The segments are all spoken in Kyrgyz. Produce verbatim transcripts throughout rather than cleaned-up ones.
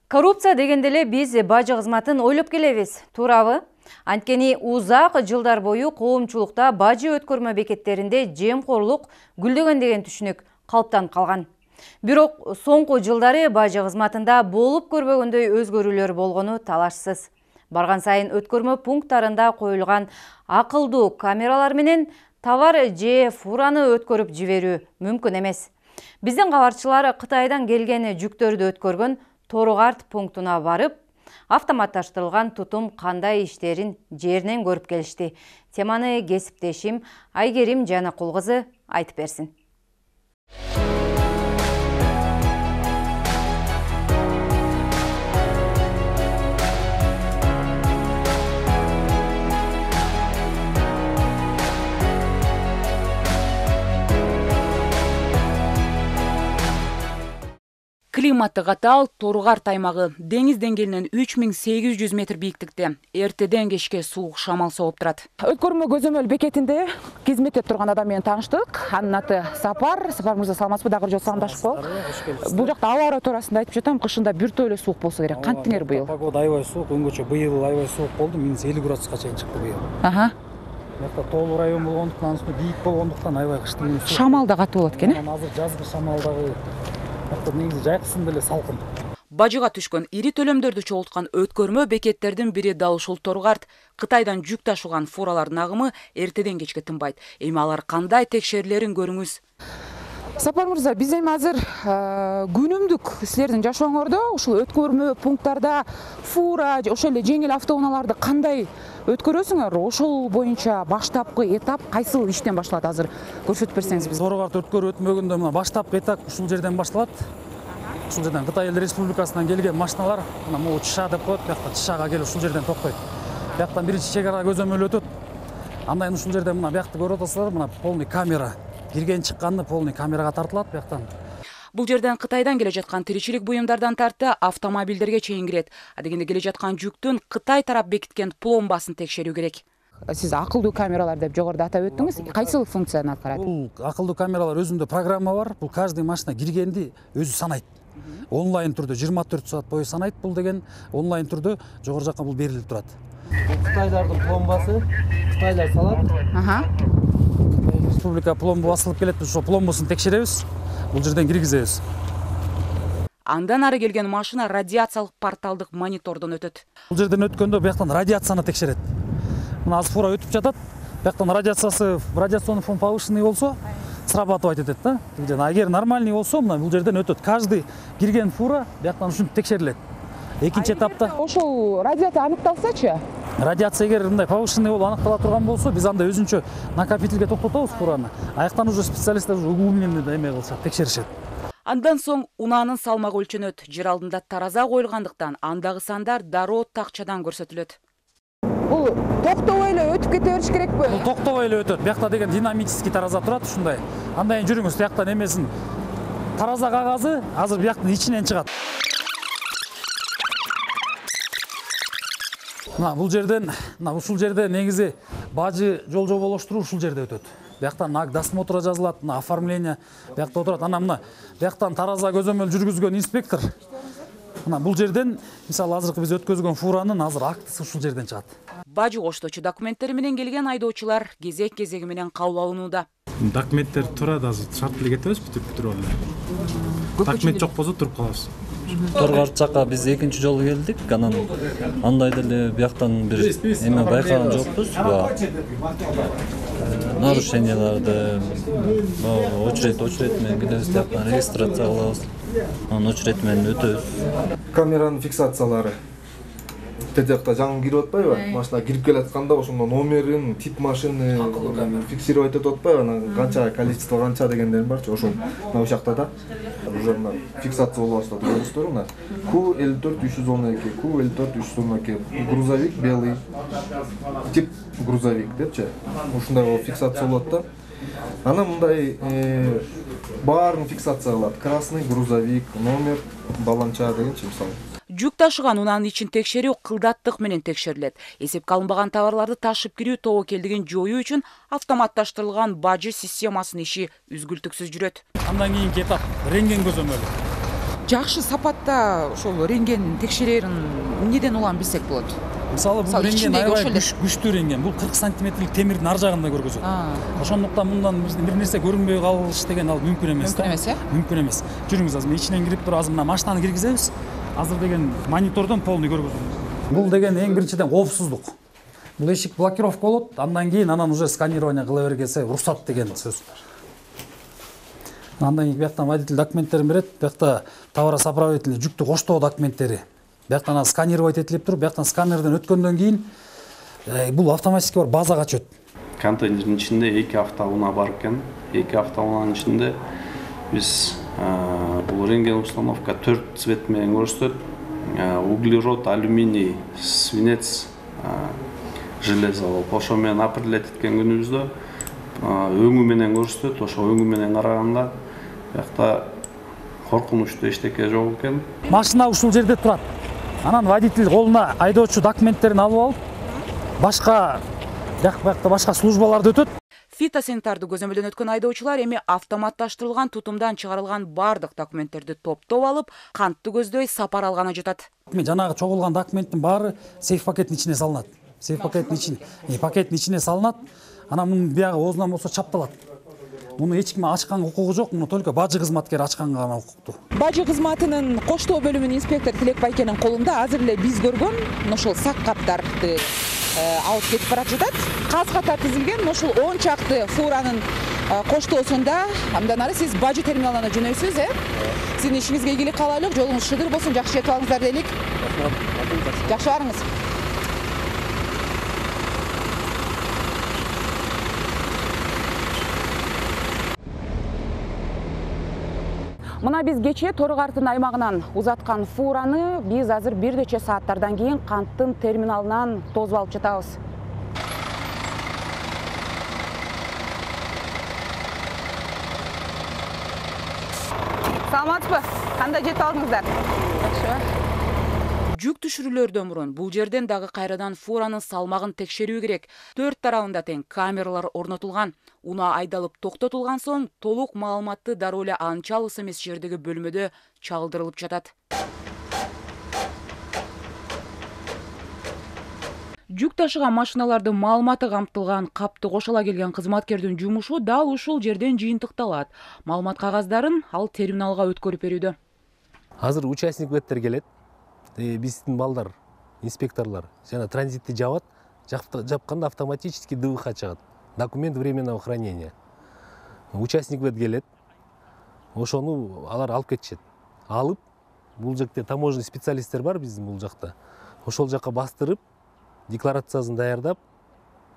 Коррупция дегенде эле биз бажы кызматын ойлоп келебиз, туурабы? Анткени узак жылдар бою коомчулукта бажы өткөрмө бекеттеринде жемкорлук гүлдөгөн деген түшүнүк калыптанып калган. Бирок соңку жылдары бажы кызматында болуп көрбөгөндөй өзгөрүүлөр болгону талашсыз. Барган сайын өткөрмө пункттарында коюлган акылдуу камералар менен товар же фураны өткөрүп жиберүү мүмкүн эмес. Биздин кабарчылар Кытайдан келген жүктөрдү өткөргөн Торугарт пунктуна барып, автоматташтырылган тутум кандай иштерин жеринен көрүп келишти. Теманы кесиптешим Айгерим Жанакул кызы айтып берсин. Климаты катаал Торугарт аймагы деңиз деңгээлинен үч миң сегиз жүз метр бийиктикте. Эртеден кечке суук шамал сооп турат. Өткөрмө көзөмөл бекетинде кызмет турган адам менен тааныштык. Анын аты Сапар. Сапар мырза, саламатсызбы? Дагы жолу саламдашып. Бул жакта аба ара туурасында айтып жатам. Кышында бир тойло суук болсо керек. Кантиңер быйыл? Погода аябай суук, өңгөчө быйыл аябай суук болду. минус элүү градуска чейин чыкты быйыл. Аха. Мында тоолуу район болгондуктан, анысы бийик болгондуктан аябай кыштын суук. Шамал да катуу болот экен, э? Азыр жазгы шамалдагы негизи жайкысында эле салкын. Бажыга түшкөн ири төлөмдөрдү чогулткан өткөрмө бекеттердин бири дал ушул Торугарт. Кытайдан жүк ташыган фуралардын агымы эртеден кечке тынбайт. Эми алар кандай текшерилерин көрүңүз. Сапар мырза, биз эми азыр күнүмдүк силердин жашооңордо ушул өткөрмө пункттарда фура же ошол эле жеңил автоунааларды кандай өткөрөсүңөр? Ошол боюнча баштапкы этап кайсыл иштен башталат? Азыр көрсөтүп берсеңиз биз. Торугарт өткөрүү өтмөгөндө мына баштапкы этап ушул жерден башталат. Ушул жерден Кытай Эл Республикасынан келген машиналар мына могу чыша деп коет, бuyakта чышага келип ушул жерден токтойт. Бuyактан биринчи чек ара көзөмөл өтөт. Андан ушул жерден мына буякты көрүп атасыздар, мына полный камера. Кирген чыкканды полный камерага тартылат буяктан. Бул жерден Кытайдан келе жаткан тиричилик буюмдардан тарты автомобилдерге чейин кирет. А дегенде келе жаткан жүктүн Кытай тарап бекиткен пломбасын текшерүү керек. Сиз акылдуу камералар деп жогоруда атап өттүңүз. Кайсыл функцияны аткарат? Бул акылдуу камералар өзүндө программа бар. Бул каждый машина киргенди өзү санайт. Онлайн түрдө жыйырма төрт саат бою санайт. Бул деген онлайн түрдө жогору жакка бул берилип турат. Кытайлардын пломбасы, Кытайлар салат. Аха. Республика пломба басылып келет, ошо пломбасын текшеребиз. Бул жерден киргизебиз. Андан ары келген машина радиациялык порталдык монитордон өтөт. Бул жерден өткөндө буяктан радиацияны текшерет. Мына азыр фура өтүп жатат. Буяктан радиациясы, радиационный фон повышенный болсо, срабатывать этет да. Эгер нормальный болсо, мына бул жерден өтөт. Каждый кирген фура буяктан ушинтип текшерилет. Экинчи этапта ошол радиация аныкталсачы? Радиация эгер мындай повышенный болуп аныктала турган болсо, биз анда өзүнчө накопительге токтотобуз фураны. Аяктан уже специалисттер уже углубленно эме кылышат, текшеришет. Андан соң унаанын салмагы өлчөнөт. Жер алдында тараза коюлгандыктан андагы сандар дароо такчадан көрсөтүлөт. Бул токтобой эле өтүп кете бериш керекпи? Бул токтобой эле өтөт. Буякта деген динамический тараза турат ушундай. Андан кийин жүрүңүз, буяктан эмесин тараза кагазы азыр буяктын ичинен чыгат. Мына бул жерден, мына ушул жерде негизи бажы жол жоболоштуруу ушул жерде өтөт. Буяктан наг досмотра жазылат, мына оформление буякта отурат. Анан мына буяктан тараза көзөмөл жүргүзгөн инспектор. Мына бул жерден, мисалы азыркы биз өткөзгөн фуранын азыр актысы ушул жерден чыгат. Бажы кошточу документтери менен келген айдоочулар кезек-кезеги менен кабыл алынууда. Документтер турат, азыр шарт эле кетебиз, бүтүп-бүтүрүп алып. Документ жок болсо туруп калабыз. Торугарт жакка биз экинчи жолу келдик. Анан андай деле буяктан бир эме байкаган жокпуз. Нарушенияларды очеред очеред менен келебиз, жактан регистрация кылабыз. Анан очеред менен өтөбүз. Камеранын фиксациялары тетекта жаңы кирип атпайбы? Машина кирип келатканда ошондо номерин, тип машины фиксировать этип атпайбы? Анан канча количество канча дегендер барчы ошол мына ушул жакта да. Уже мына фиксация болуп баштады. Көрүңүздөр мына Q элүү төрт үч жүз он эки, Q элүү төрт үч жүз он эки грузовик белый, тип грузовик депчи. Ушундай болуп фиксация болот да. Анан мындай баарын фиксация кылат. Красный грузовик, номер, баланча дегенчи мисалы. Жүк ташыган унаанын ичин текшерүү кылдаттык менен текшерилет. Эсепке алынбаган товарларды ташып кирүү тобокелдигин жоюу үчүн автоматташтырылган бажы системасынын иши үзгүлтүксүз жүрөт. Андан кийинки этап рентген көзөмөлү. жакшы сапатта ошол рентген текшерерин эмнеден улам билсек болот? Мисалы бул рентген аябай күчтүү рентген. Бул кырк сантиметрлик темирдин ар жагында көргөзөт. Ошондуктан мындан бир нерсе көрүнбөй калыш деген ал мүмкүн эмес да. Мүмкүн эмес, э? Мүмкүн эмес. Жүрүңүз азыр ичинен кирип туруп азыр мына машинаны киргизебиз. Азыр деген монитордон полный көргөзөбүз. Бул деген эң биринчиден коопсуздук. Бул эшик блокировка болот, андан кийин анан уже сканирование кыла бергенсе уруксат деген сөз. Андан кийин бияктан водитель документтерин берет, биякта товаросоправитель жүктү коштоо документтери. Бияктан сканировать этилип туруп, бияктан сканерден өткөндөн кийин бул автоматически бар базага чөт. Контейнердин ичинде эки автоунаа бар экен. эки автоунаанын ичинде биз бул рентген установка төрт цвет менен көрсөтөт. Углерод, алюминий, свинец, железо болуп ошо менен определять эткен күнүбүздө өңү менен көрсөтөт. Ошо өңү менен караганда биякта коркунучтуу эчтеке жок экен. Машина ушул жерде турат. Анан водитель колуна айдоочу документтерин алып алып, башка бияк-баякта башка службаларды өтөт. Фитосанитарды көзөмөлдөн өткөн айдоочулар эми автоматташтырылган тутумдан чыгарылган бардык документтерди топтоп алып, кантты көздөй сапар алганы жатат. Жанагы чогулган документтин баары сейф пакеттин ичине салынат. Сейф пакеттин ичине, пакеттин ичине салынат. Анан мунун биягы оозунан болсо чапталат. Муну эч ким ачканга укугу жок, муну только бажы кызматкер ачканга гана укуктуу. Бажы кызматынын коштоо бөлүмүнүн инспектор Тилек Байкенин колунда азыр эле биз көргөн ошол сак каптарды алып кетип барат жатат. Каз катар тизилген ошол он чакты фуранын коштоосунда андан ары сиз бажы терминалына жөнөйсүз, э? Сиздин ишиңизге ийгилик каалайлык, жолуңуз шыдыр болсун, жакшы жетип алыңыздар дейлик. Жакшы барыңыз. Мына биз кечээ Тору-Картын аймагынан узаткан фураны биз азыр бир нече сааттардан кийин Канттын терминалынан тосуп алып жатабыз. Саламатсызбы? Кандай жетип алдыңыздар? Жакшы. Жүк түшүрүүлөрдөн мурун бул жерден дагы кайрадан фуранын салмагын текшерүү керек. Төрт тарабында тең камералар орнотулган. Унаа айдалып токтотулган соң толук маалыматты дароо эле анча алыс эмес жердеги бөлмөдө чалдырылып жатат. Жүк ташыган машиналардын маалыматы камтылган капты кошола келген кызматкердин жумушу дал ушул жерден жыйынтыкталат. Маалымат кагаздарын ал терминалга өткөрүп берүүдө. Азыр участник беттер келет. Биздин балдар, инспекторлор жана транзитти жабат, жапканда автоматически ДВХ чыгат. Документ временного хранения. Участник бет келет. Ошону алар алып кетишет. Алып, бул жакта таможенный специалисттер бар биздин бул жакта. Ошол жакка бастырып, декларациясын даярдап,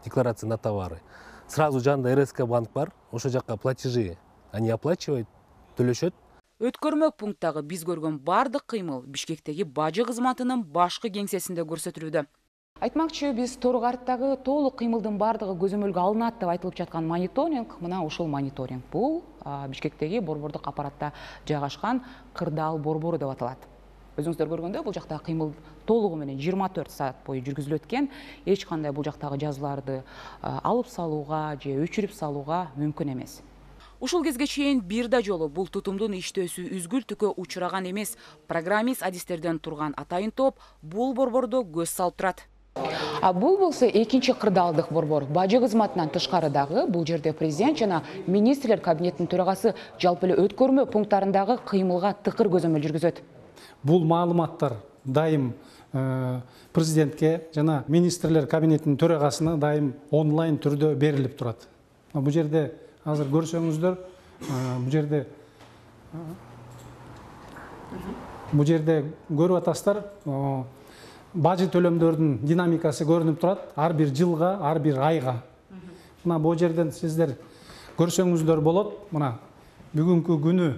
декларация на товары. Сразу жанында эр эс ка банк бар, ошол жакка платежи они оплачивают, төлөшөт. Өткөрмө пункттагы биз көргөн бардык кыймыл Бишкектеги бажы кызматынын башкы кеңсесинде көрсөтүлүүдө. Айтмакчы, биз Тору-Карттагы толук кыймылдын бардыгы көзөмөлгө алынат деп айтылып жаткан мониторинг, мына ушул мониторинг. Бул Бишкектеги борбордук аппаратта жайгашкан Кырдаал борбору деп аталат. Өзүңүздөр көргөндөй, бул жакта кыймыл толугу менен жыйырма төрт саат бою жүргүзүлөт экен. Эч кандай бул жактагы жазууларды алып салууга же өчүрүп салууга мүмкүн эмес. Ушул кезге чейин бир да жолу бул тутумдун иштөөсү үзгүл түкө учураган эмес. Программист адистерден турган атайын топ бул борбордо көз салып турат. А бул болсо экинчи кырдаалдык борбор. Бажы кызматынан тышкары дагы бул жерде президент жана министрлер кабинетинин төрагасы жалпы эле өткөрмө пункттарындагы кыймылга тыкыр көзөмөл жүргүзөт. Бул маалыматтар дайым президентке жана министрлер кабинетинин төрагасына дайым онлайн түрдө берилип турат. Бул жерде азыр көрсөңүздөр, бул жерде бул жерде көрүп атасыздар, бажы төлөмдөрдүн динамикасы көрүнүп турат, ар бир жылга, ар бир айга. Мына бул жерден сиздер көрсөңүздөр болот. Мына бүгүнкү күнү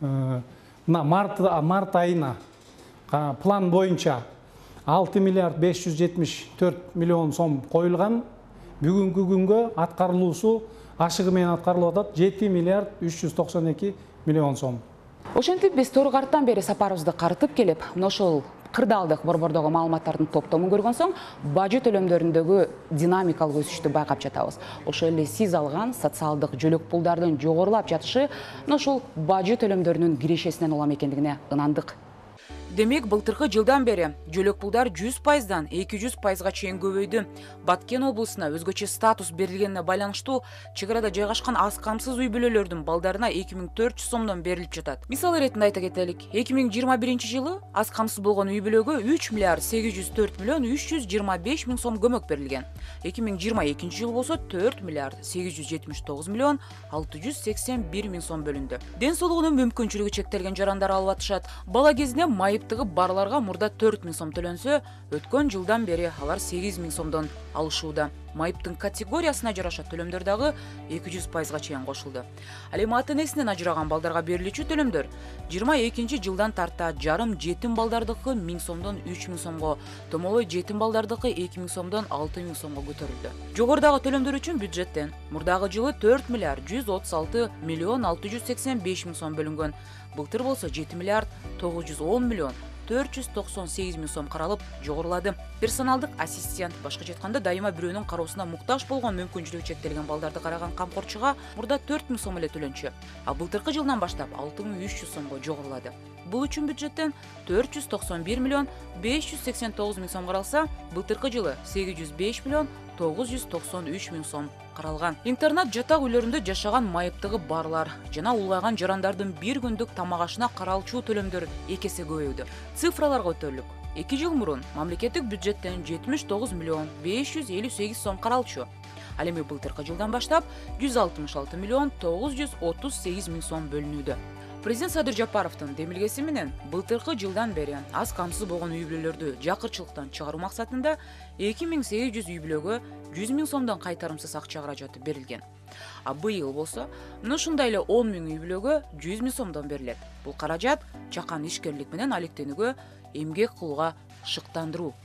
мына март март айына план боюнча алты миллиард беш жүз жетимиш төрт миллион сом коюлган. Бүгүнкү күнгө аткарылуусу ашыгы менен аткарылып атат жети миллиард үч жүз токсон эки миллион сом. Ошентип биз Тору-Карттан бери сапарыбызды карытып келип, мына ошол кырдаалдык борбордогу маалыматтардын топтомун көргөн соң бажы төлөмдөрүндөгү динамикалык өсүштү байкап жатабыз. Ошол эле сиз алган социалдык жөлөк пулдардын жогорулап жатышы ушул бажы төлөмдөрүнүн кирешесинен улам экендигине ынандык. Демек, былтыркы жылдан бери жөлөк пулдар жүз пайыздан эки жүз пайызга чейин көбөйдү. Баткен облусуна өзгөчө статус берилгенине байланыштуу чек арада жайгашкан аз камсыз үй бүлөлөрдүн балдарына эки миң төрт жүз сомдон берилип жатат. Мисал иретинде айта кетелик, эки миң жыйырма биринчи жылы аз камсыз болгон үй бүлөгө үч миллиард сегиз жүз төрт миллион үч жүз жыйырма беш миң сом көмөк берилген. эки миң жыйырма экинчи жылы болсо төрт миллиард сегиз жүз жетимиш тогуз миллион алты жүз сексен бир миң сом бөлүндү. Ден соолугунун мүмкүнчүлүгү чектелген жарандар алып атышат. Бала кезинде майыптыгы барларга мурда төрт миң сом төлөнсө, өткөн жылдан бери алар сегиз миң сомдон алышууда. Майыптын категориясына жараша төлөмдөр дагы эки жүз пайызга чейин кошулду. Ал эми ата энесинен ажыраган балдарга берилүүчү төлөмдөр жыйырма экинчи жылдан тарта жарым жетим балдардыкы миң сомдон үч миң сомго, томолой жетим балдардыкы эки миң сомдон алты миң сомго көтөрүлдү. Жогорудагы төлөмдөр үчүн бюджеттен мурдагы жылы төрт миллиард жүз отуз алты миллион алты жүз сексен беш миң сом бөлүнгөн. Былтыр болсо жети миллиард тогуз жүз он миллион төрт жүз токсон сегиз миң сом каралып жогорулады. Персоналдык ассистент, башкача айтканда дайыма бирөөнүн кароосуна муктаж болгон мүмкүнчүлүгү чектелген балдарды караган камкорчуга мурда төрт миң сом эле төлөнчү, а былтыркы жылдан баштап алты миң үч жүз сомго жогорулады. Бул үчүн бюджеттен төрт жүз токсон бир миллион беш жүз сексен тогуз миң сом каралса, былтыркы жылы сегиз жүз беш миллион тогуз жүз токсон үч миң сом каралган. Интернат жатак үйлөрүндө жашаган майыптыгы барлар жана улгайган жарандардын бир күндүк тамак ашына каралчу төлөмдөр эки эсе көбөйдү. Цифраларга өтөлүк. эки жыл мурун мамлекеттик бюджеттен жетимиш тогуз миллион беш жүз элүү сегиз сом каралчу. Ал эми былтыркы жылдан баштап жүз алтымыш алты миллион тогуз жүз отуз сегиз миң сом бөлүнүүдө. Президент Садыр Жапаровдун демилгеси менен былтыркы жылдан бери аз камсыз болгон үй бүлөлөрдү жакырчылыктан чыгаруу максатында эки миң сегиз жүз үй бүлөгө жүз миң сомдон кайтарымсыз акча каражаты берилген. А быйыл болсо ушундай эле он миң үй бүлөгө жүз миң сомдон берилет. Бул каражат жакан ишкерлик менен алектенүүгө, эмгек кылууга шыктандыруу.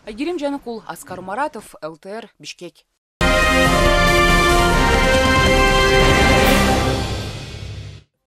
Айгерим Жаныкул, Аскар Маратов, эл тэ эр, Бишкек.